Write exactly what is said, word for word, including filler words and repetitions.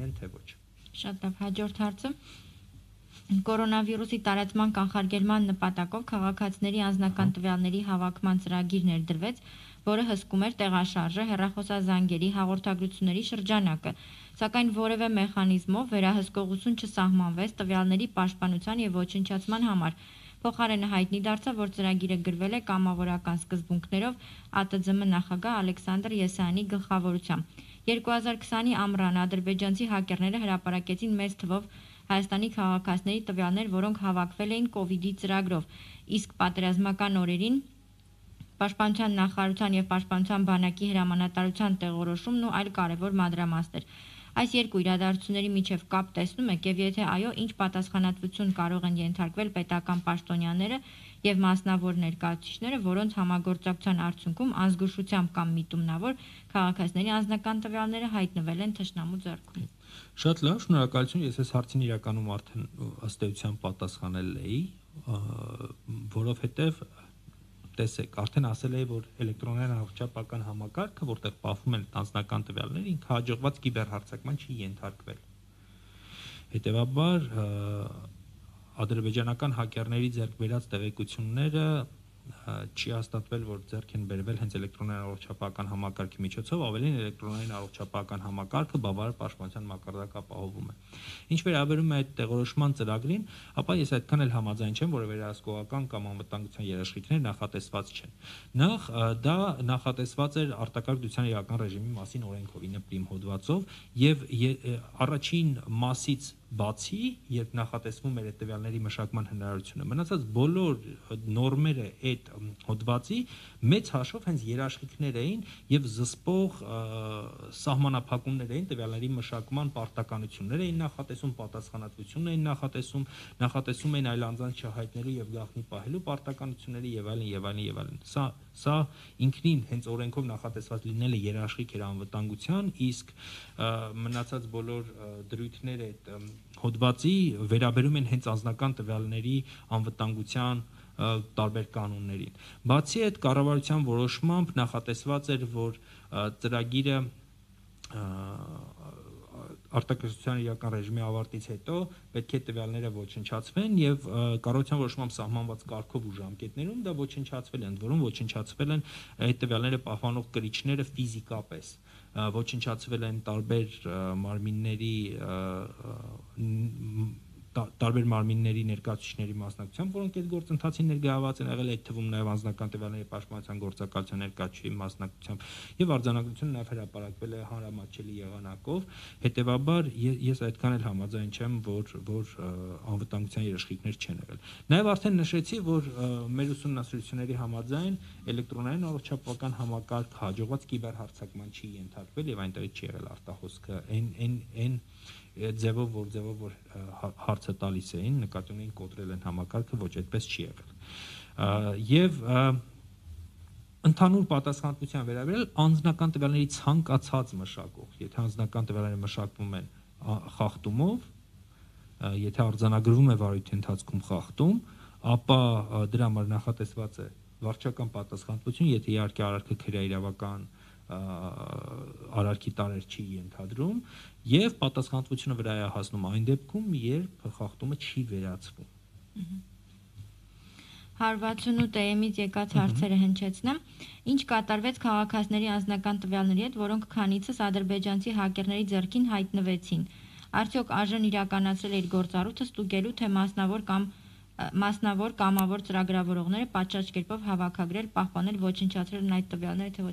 են, թե ոչ։ Շատ լավ, հաջորդ հարցը կորոնավիրուսի տարածման կանխարգելման նպատակով քաղաքացիների անձնական տվյալների հավաքման ծրագիր ներդրվեց, որը հսկում էր տեղաշարժը, հեռախոսազանգերի, հաղորդագրությունների շրջանակը, սակայն որևէ մեխանիզմով վերահսկողություն չսահմանվեց տվյալների պաշտպանության և ոչնչացման համար։ Փոխարենը հայտնի դարձավ, որ ծրագիրը գրվել է կամավորական սկզբունքներով ԱՏՁՄ նախագահ Ալեքսանդր Եսայանի գլխավորությամբ։ երկու հազար քսանի ամռանը ադրբեջանցի հակերները հրապարակեցին մեծ թվով Հայաստանի քաղաքացիների տվյալներ, որոնք հավաքվել էին կովիդի ծրագրով, իսկ պատերազմական օրերին Պաշտպանության նախարարության և Պաշտպանության բանակի հրամանատարության տեղորոշումն ու այլ կարևոր մանրամասներ։ Այս երկու իրադարձությունների միջև կապ տեսնում եք, և եթե այո, ինչ պատասխանատվություն կարող են ենթարկվել պետական պաշտոնյաները և մասնավոր ներկայացուցիչները, որոնց համագործակցության արդյունքում անզգուշությամբ կամ միտումնավոր քաղաքացիների անձնական տվյալները հայտնվել են թշնամու ձեռքում։ Շատ լավ, շնորհակալություն, ես այս հարցին իրականում արդեն ըստ էության պատասխանել էի, որովհետև տեսեք, արդեն ասել էի, որ էլեկտրոնային առողջապահական համակարգը, որտեղ պահվում են անձնական տվյալները, ինքը հաջողված կիբերհարձակման չի ենթարկվել։ Հետևաբար ադրբեջանական հակերների ձեռք բերած տեղեկությունները չի հաստատվել, որ ձեռք են բերվել հենց էլեկտրոնային առողջապահական համակարգի միջոցով, ավելին էլեկտրոնային առողջապահական համակարգը բավարար պաշտպանության մակարդակ ապահովում է։ Ինչ վերաբերում է այդ տեղորոշման ծրագրին, ապա ես այդքան էլ համաձայն չեմ, որ վերահսկողական կամ անվտանգության երաշխիքներ նախատեսված չեն։ Նախ դա նախատեսված էր արտակարգ դրության իրական ռեժիմի մասին օրենքով ինը պրիմ հոդվածով եւ առաջին մասից բացի, երբ նախատեսվում էր այդ տվյալների մշակման հնարավորությունը, մնացած բոլոր նորմերը այդ հոդվածի մեծ հաշվով հենց երաշխիքներ էին եւ զսպող սահմանափակումներ էին տվյալների մշակման պարտականություններ էին նախատեսում, պատասխանատվություն էին նախատեսում, նախատեսում էին այլ անձանց չհայտնելու եւ գաղտնի պահելու պարտականությունների եւ այլն եւ այլն եւ այլն։ Սա սա ինքնին հենց օրենքով նախատեսված լինելը երաշխիք էր անվտանգության, իսկ մնացած բոլոր դրույթները այդ հոդվածի վերաբերում են հենց անձնական տվյալների անվտանգության տարբեր կանոններին։ Բացի այդ, կառավարության որոշմամբ նախատեսված էր, որ ծրագիրը արտակարգության իրական ռեժիմի ավարտից հետո պետք է տվյալները ոչնչացվեն եւ կառավարության որոշմամբ սահմանված կարգով ու ժամկետներում դա ոչնչացվել է, ընդ որում ոչնչացվել են այդ տվյալները պահպանող կրիչները ֆիզիկապես, ոչնչացվել են տարբեր մարմինների տարբեր մարմինների ներկայացուցիչների մասնակցությամբ, որոնք այդ գործընթացին ներգրավված են եղել, այդ թվում նաև անձնական տվյալների պաշտպանության գործակալության ներկայացուցիչի մասնակցությամբ, եւ արձանագրությունը նաև հրապարակվել է հանրամատչելի եղանակով։ Հետևաբար ես այդքան էլ համաձայն չեմ, որ որ անվտանգության երաշխիքներ չեն եղել։ Նաև արդեն նշեցի, որ մեր ուսումնասիրությունների համաձայն էլեկտրոնային առողջապահական համակարգ հաջողված կիբերհարձակման չի ենթարկվել եւ այնտեղից չի եղել արտահոսքը այն այն այն ձևով, որ ձևով որ հարցը տալիս էին, նկատի ունեին կոտրել են համակարգը, ոչ այդպես չի եղել։ Եվ ընդհանուր պատասխանատվության վերաբերյալ անձնական տվյալների ցանկացած մշակող, եթե անձնական տվյալները մշակվում են խախտումով, եթե արձանագրվում է վարույթի ընթացքում խախտում, ապա դրա համար նախատեսված է վարչական պատասխանատվություն, եթե իհարկե արարքը քրեաիրավական արարքի տարեր չի ենթադրում, եւ պատասխանատվությունը վրա է հասնում այն դեպքում, երբ խախտումը չի վերացվում։ հարյուր վաթսունութ էմից եկած հարցերը հնչեցնեմ։ Ինչ կատարվեց քաղաքացիների անձնական տվյալների հետ, որոնք քանիցս ադրբեջանցի հակերների ձեռքին հայտնվեցին։ Արդյոք ԱԺ-ն իրականացրել է իր գործառույթը ստուգելու, թե մասնավոր կամ մասնավոր կամավոր ծրագրավորողները պատշաճ կերպով հավաքագրել, պահպանել, ոչնչացրել են այդ տվյալները, թե